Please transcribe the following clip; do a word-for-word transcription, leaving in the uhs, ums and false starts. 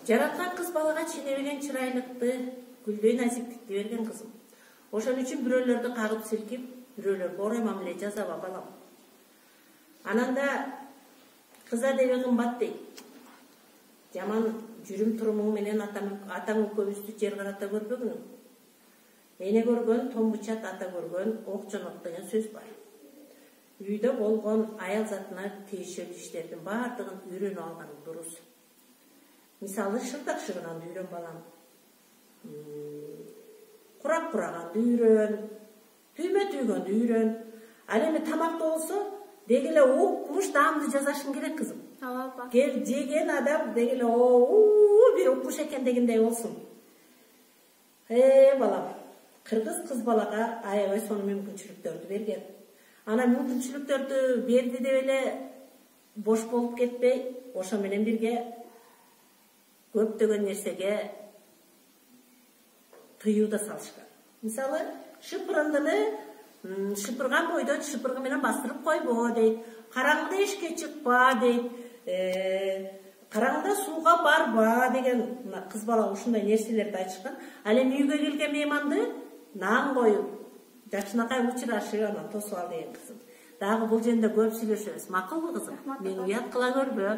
Жараткан кыз балага ченебеген чырайлыкты, гүлдөй назиктикти берген кызым. Ошон үчүн бирөөлөрдү кагып силкип, бирөөлөргө орой мамиле жасаба балам. Ананда кыз адеби кымбат дейт. Жаман жүрүм турумуң менен атаң экөөбүздү жер карата көрбөгүнүң. Эне көргөн томбучат, ата көргөн ок жонот деген сөз бар. Үйдө болгон аял затына тийишелүү иштердин баардыгын үйрөнүп алган дурус. Мисалы, шырдак шыгынанды үйрөн балам. Курак кураганды үйрөн, түймө түйгөндү үйрөн. Ал эми тамакта болсо, деги эле укмуш даамды жасашың керек кызым. Ооба. Кел жеген адам деги эле оо бир укмуш экен дегендей болсун. Э балам, кыргыз кыз балага аябай сонун мүмкүнчүлүктөрдү берген. Ана мүмкүнчүлүктөрдү берди деп эле бош болуп кетпей, ошо менен бирге көптөгөн нерсеге тыюу да салышкан. Мисалы, шыпырындыны шыпырган бойдо шыпыргы менен бастырып койбо дейт. Караңгыда эшикке чыкпа дейт. Караңгыда сууга барба деген кыз бала ушундай нерселерди айтышкан. Ал эми үйгө келген мейманды наан коюп, жакшынакай учурашып, анан тосуп ал деген кызым. Дагы бул жөнүндө көп сүйлөшөбүз. Макулбу кызым? Мени уят кыла көрбө.